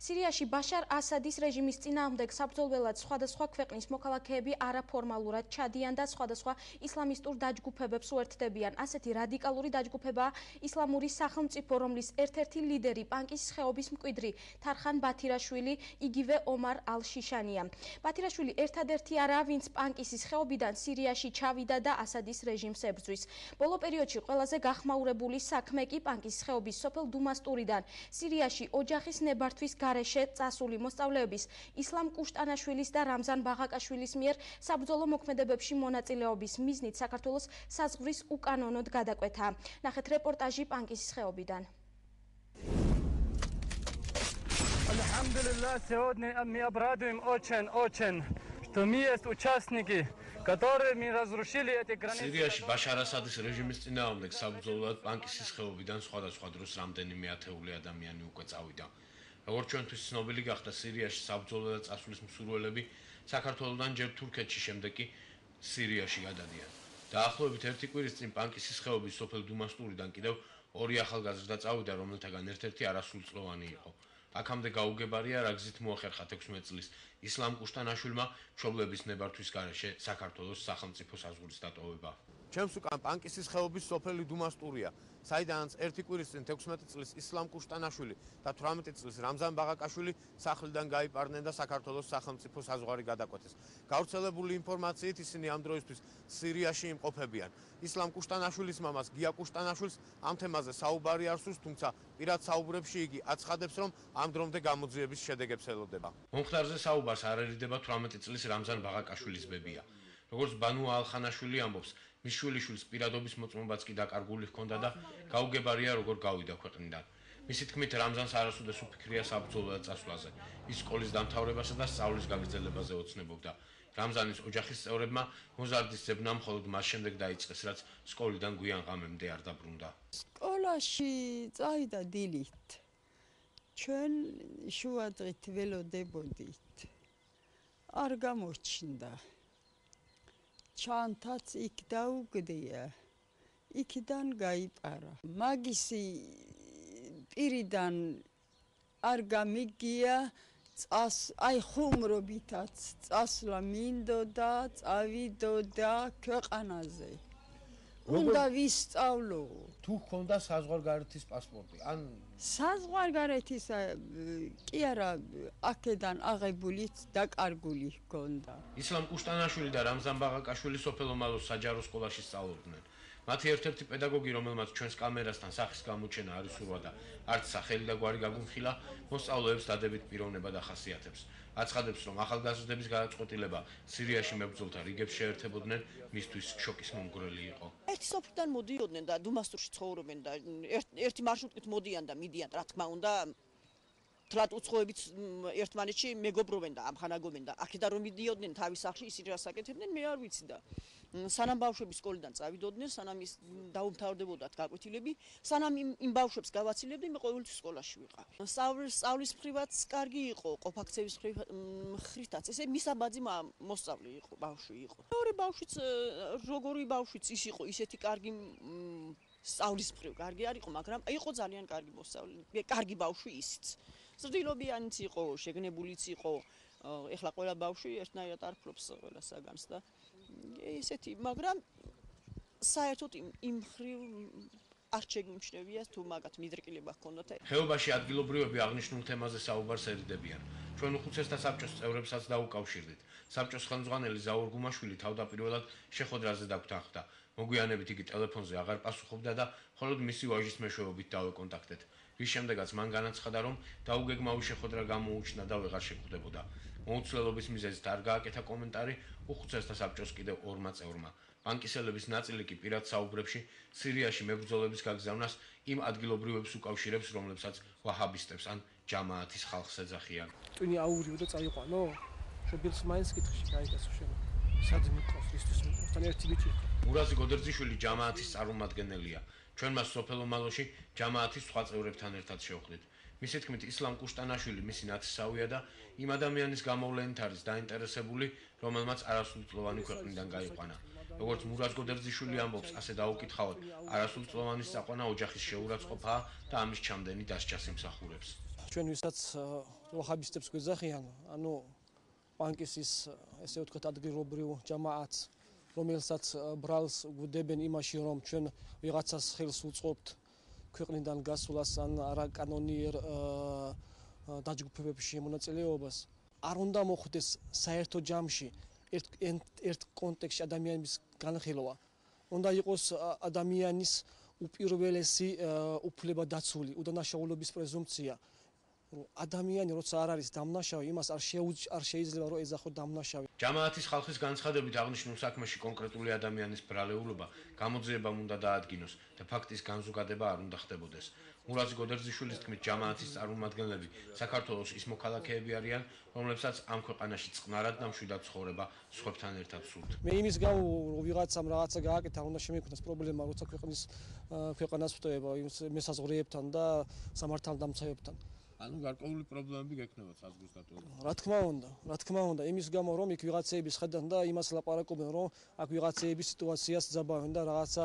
სირიაში ბაშარ ასადის რეჟიმის წინააღმდეგ საბრძოლველად სხვადასხვა ქვეყნის მოქალაქეები არაფორმალურად ჩადიან და სხვადასხვა ისლამისტურ დაჯგუფებებს უერთდებიან. ასეთი რადიკალური დაჯგუფებაა ისლამური სახელმწიფო, რომლის ერთ-ერთი ლიდერი პანკის ხეობის მკვიდრი თარხან ბათირაშვილი, იგივე ომარ ალ-შიშანია. ბათირაშვილი ერთადერთი არაა, ვინც პანკისის ხეობიდან სირიაში ჩავიდა და ასადის რეჟიმს ებრძვის. ბოლო პერიოდში ყველაზე გახმაურებული საქმე კი პანკის ხეობის სოფელ დუმასტურიდან სირიაში ოჯახის ნებართვის გარეშე წასული მოსწავლეების ისლამ კუშტანაშვილის და რამზან ბაღაკაშვილის მიერ საბრძოლო მოქმედებებში მონაწილეობის მიზნით საქართველოს საზღვრის უკანონოდ გადაკვეთა. ნახეთ რეპორტაჟი პანკისის ხეობიდან. Alhamdulillah, сегодня мы обрадуем очень, что мы есть участники, которые мы разрушили эти границы. სირიაში ბაშარ ასადის რეჟიმის წინააღმდეგ საბრძოლოდ პანკისის ხეობიდან სხვადასხვა დროს რამდენიმე ათეული ადამიანი უკვე წავიდა. როგორც ჩვენთვის ცნობილი გახდა, სირიაში საბრძოლოდ წასვლის მსურველები საქართველოსთან ჯერ თურქეთში, შემდეგ კი სირიაში გადადიან. დაახლოებით ერთი კვირის წინ პანკისის ხეობის სოფელ დუმასტურიდან კიდევ ორი ახალგაზრდა წავიდა, რომელთაგან ერთ-ერთი არასრულწლოვანი იყო. აქამდე გაუგებარია, რა გზით მოახერხა 16 წლის ისლამ კუშტანაშვილმა მშობლების ნებართვის გარეშე საქართველოს სახელმწიფო საზღვრის დატოვება. ჩემს უკან პანკისის ხეობის სოფელი დუმასტურია, საიდანაც ერთი კვირის წინ 16 წლის ისლამ კუშტანაშვილი და 18 წლის რამზან ბაღაკაშვილი სახლიდან გაიპარნენ და საქართველოს სახელმწიფო საზღვარი გადაკვეთეს. გავრცელებული ინფორმაციით ისინი ამ დროისთვის სირიაში იმყოფებიან. ისლამ კუშტანაშვილის მამას გია კუშტანაშვილს ამ თემაზე საუბარი არ სურს, თუმცა პირად საუბრებში იგი აცხადებს, რომ ამ დრომდე გამოძიების შედეგებს ელოდება. მომხდარზე საუბარს არ ერიდება 18 წლის რამზან ბაღაკაშვილის ბებია. როგორც ბანუ ალხანაშვილი ამბობს, მის შვილიშვილს პირადობის მოწმობაც კი დაკარგული ჰქონდა და გაუგებარია, როგორ გავიდა ქვეყნიდან. მისი თქმით, რამზანს არასოდეს უფიქრია საბრძოლოდ წასვლაზე. ის სკოლის დამთავრებასა და სწავლის გაგრძელებაზე ოცნებობდა. რამზანის ოჯახის წევრებმა მოზარდის ძებნა მხოლოდ მას შემდეგ დაიწყეს, რაც სკოლიდან გვიან ღამემდე არ დაბრუნდა. სკოლაში წავიდა დილით. ჩვენ შუადღით ველოდებოდით. არ გამოჩნდა. ჩანთაც იქ დაუგდია. იქიდან გაიპარა. მაგისი პირიდან არ გამიგია, აი ხუმრობითაც წასვლა მინდოდა, წავიდოდა ქვეყანაზე. უნდა ვისწავლო. თუ ჰქონდა საზღვარგარეთის პასპორტი, ან საზღვარგარეთის კი არა, აქედან აღებულიც დაკარგული ჰქონდა. ისლამ კუშტანაშვილი და რამზან ბაღაკაშვილი სოფელ ომალოს საჯარო სკოლაში სწავლობდნენ. მათი ერთ-ერთი პედაგოგი, რომელმაც ჩვენს კამერასთან სახის გამოჩენა არ ისურვა და არც სახელი და გვარი გაგუმხილა, მოსწავლეებს დადებით პიროვნება დახასიათებს. აცხადებს, რომ ახალგაზრდების გადაწყვეტილება სირიაში მებრძოლთა რიგებს შეერთებოდნენ, მისთვის შოკის მომგვრელი იყო. ერთი სოფლიდან მოდიოდნენ და დუმასტურში ცხოვრობენ და ერთი მარშრუტით მოდიან და მიდიან, რა თქმა უნდა, თლათ უცხოებით ერთმანეთში მეგობრობენ და ამხანაგობენ და აქედან რომ მიდიოდნენ თავის სახლში, ისინი რას აკეთებდნენ, მე არ ვიცი და სანამ ბავშვები სკოლიდან წავიდოდნენ, სანამ ის დაუმთავრდებოდათ გაკვეთილები, სანამ იმ ბავშვებს გავაცილებდნენ, მე ყოველთვის სკოლაში ვიყავ. სწავლის მხრივაც კარგი იყო, ყოფაქცევის მხრითაც, ესე მისაბაძი მოსწავლე იყო, ბავშვი იყო. მეორე ბავშვიც, როგორი ბავშვიც ის იყო, ისეთი კარგი სწავლის მხრივ კარგი არ იყო, მაგრამ იყო ძალიან კარგი მოსწავლე, კარგი ბავშვი ისიც. ზრდილობიანიც იყო, შეგნებულიც იყო. ეხლა ყველა ბავშვი ერთნაირად არ ფლობს ყველა საგანს და ესეთი, მაგრამ საერთოდ იმ მხრივ არ შეგიმჩნევია თუ მაგათ მიდრკილება ჰქონდათ. ხეობაში ადგილობრივები აღნიშნულ თემაზე საუბარს ერიდებიან. ჩვენ უხუცესთა საბჭოს წევრებსაც დაუკავშირდით. საბჭოს ხელმძღვანელი ზაურ გუმაშვილი თავდაპირველად შეხვედრაზე დაგვთანხმდა. მოგვიანებით იგი ტელეფონზე აღარ პასუხობდა და მხოლოდ მისი ვაჟის მეშვეობით დავეკონტაქტეთ. რის შემდეგაც მან განაცხადა, რომ დაუგეგმავი შეხვედრა გამოუჩნდა და ვეღარ შეხვდებოდა. მოუცვლელობის მიზეზით არ გააკეთა კომენტარი უხუცესთა საბჭოს კიდევ ორმა წევრმა. პანკისელების ნაწილი კი პირად საუბრებში სირიაში მებრძოლების გაგზავნას იმ ადგილობრივებს უკავშირებს, რომლებსაც ვაჰაბისტებს ან ჯამაათის ხალხს ეძახიან. ტვინი აურიო და წაიყვანო? შობილს მაინც კითხში გაიგასო შენ. სად მიყავს ისთვის მიყავს? თან ერთი ბიჭი იყო. მურაზი გოდერძიშვილი ჯამაათის წარმომადგენელია. ჩვენ მას სოფელ ომალოში ჯამაათის სხვა წევრებთან ერთად შევხვდით. მისი თქმით, ისლამ კუშტანაშვილი მისი ნათესავია და იმ ადამიანის გამოვლენით არის დაინტერესებული, რომელმაც არასრულწლოვანი ქვეყნიდან გაიყვანა. როგორც მურაზ გოდერძიშვილი ამბობს, ასე დაუკითხავთ, არასრულწლოვანის წაყვანა ოჯახის შეურაცხყოფაა და ამის ჩამდენი დასჯას იმსახურებს. ჩვენ ვისაც ვაჰაბისტებს გვეძახიან, ანუ პანკის ის ესე ვთქვათ ადგილობრივ ჯამაათს, რომელსაც ბრალს გვდებენ იმაში, რომ ჩვენ ვიღაცას ხელს უწყობთ ქვეყნიდან გასვლას ან არაკანონიერ დაჯგუფებებში მონაწილეობას. არ უნდა მოხდეს საერთო ჯამში ერთ კონტექსტში ადამიანის განხილვა. უნდა იყოს ადამიანის უპირველესი უფლება დაცული, უდანაშაულობის პრეზუმპცია. ადამიანი როცა არ არის დამნაშავე, იმას არ შეიძლება რომ ეძახო დამნაშავე. ჯამაათის ხალხის განცხადებით აღნიშნულ საქმეში კონკრეტული ადამიანის ბრალეულობა გამოძიებამ უნდა დაადგინოს და ფაქტის განზოგადება არ უნდა ხდებოდეს. მურაზ გოდერძიშვილის თქმით, ჯამაათის წარმომადგენლები საქართველოს ის მოქალაქეები არიან, რომლებსაც ამ ქვეყანაში წყნარად და მშვიდად ცხოვრება სხვებთან ერთად სურთ. მე იმის გამო რომ ვიღაცამ რაღაცა გააკეთა, უნდა შემექმნას პრობლემა, როცა ქვეყანას ვტოება მესაზღვრეებთან და სამართალდამცავებთან. ანუ გარკვეული პრობლემები გექნება საზღვრის დატოვებაში. რა თქმა უნდა, იმის გამო რომ იქ ვიღაცეები შედან და იმას ლაპარაკობენ, რომ აქ ვიღაცეები სიტუაციას ძაბავენ და რაღაცა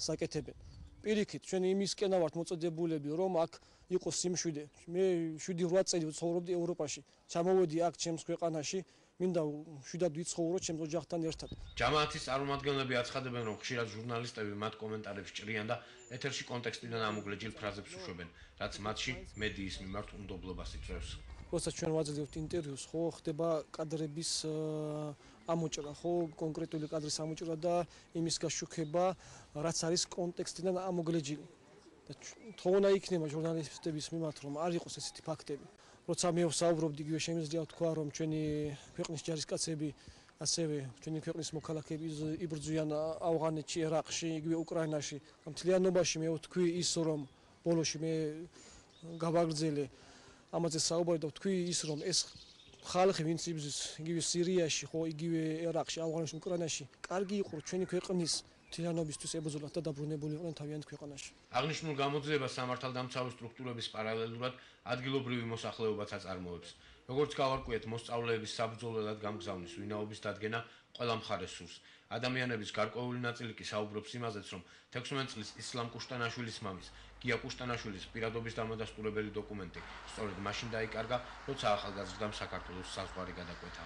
საკეთებენ. პირიქით, ჩვენ იმისკენა ვართ მოწოდებულები, რომ აქ იყოს სიმშვიდე. მე 7-8 წელი ვცხოვრობდი ევროპაში. ჩამოვედი აქ ჩემს ქვეყანაში, მინდა მშვიდად ვიცხოვრო ჩემს ოჯახთან ერთად. ჯამაათის წარმომადგენლები აცხადებენ, რომ ხშირად ჟურნალისტები მათ კომენტარებს ჭრიან და ეთერში კონტექსტიდან ამოგლეჯილ ფრაზებს უშვებენ, რაც მათში მედიის მიმართ უნდობლობას იწვევს. როცა ჩვენ ვაძლევთ ინტერვიუს, ხო, ხდება კადრების ამოჭრა, ხო, კონკრეტული კადრის ამოჭრა და იმის გაშუქება, რაც არის კონტექსტიდან ამოგლეჯილი. და თხოვნა იქნება ჟურნალისტების მიმართ, რომ არ იყოს ესეთი ფაქტები. როცა მე ვსაუბრობდი, იგივე შემიძლია ვთქვა, რომ ჩვენი ქვეყნის ჯარისკაცები, ასევე ჩვენი ქვეყნის მოქალაქეები იბრძვიან ავღანეთში, ერაყში, იგივე უკრაინაში. მთლიანობაში მე ვთქვი ის, რომ ბოლოში მე გავაგრძელე ამაზე საუბარი და ვთქვი ის, რომ ეს ხალხი, ვინც იბრძვის იგივე სირიაში, ხო, იგივე ერაყში, ავღანეთში, უკრაინაში, კარგი იყო ჩვენი ქვეყნის მთლიანობისთვის ებრძოლათ და დაბრუნებული იყვნენ თავიანთ ქვეყანაში. აღნიშნულ გამოძიებას სამართალდამცავი სტრუქტურების პარალელურად ადგილობრივი მოსახლეობაც აწარმოებს. როგორც გავარკვიეთ, მოსწავლეების საბრძოლველად გამგზავნის ვინაობის დადგენა ყველა მხარეს სურს. ადამიანების გარკვეული ნაწილი კი საუბრობს იმაზეც, რომ 16 წლის ისლამ კუშტანაშვილის მამის, გია კუშტანაშვილის პირადობის დამადასტურებელი დოკუმენტი სწორედ მაშინ დაიკარგა, როცა ახალგაზრდამ საქართველოს საზღვარი გადაკვეთა.